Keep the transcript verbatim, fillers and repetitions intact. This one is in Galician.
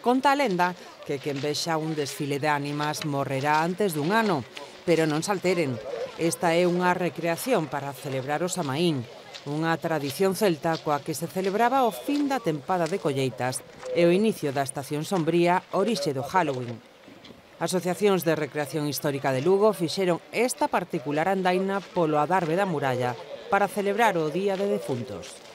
Conta a lenda que quen vexa un desfile de ánimas morrerá antes dun ano, pero non se alteren. Esta é unha recreación para celebrar o Samaín, unha tradición celta coa que se celebraba o fin da tempada de colleitas e o inicio da estación sombría, orixe do Halloween. Asociacións de recreación histórica de Lugo fixeron esta particular andaina polo adarve da muralla para celebrar o Día de Defuntos.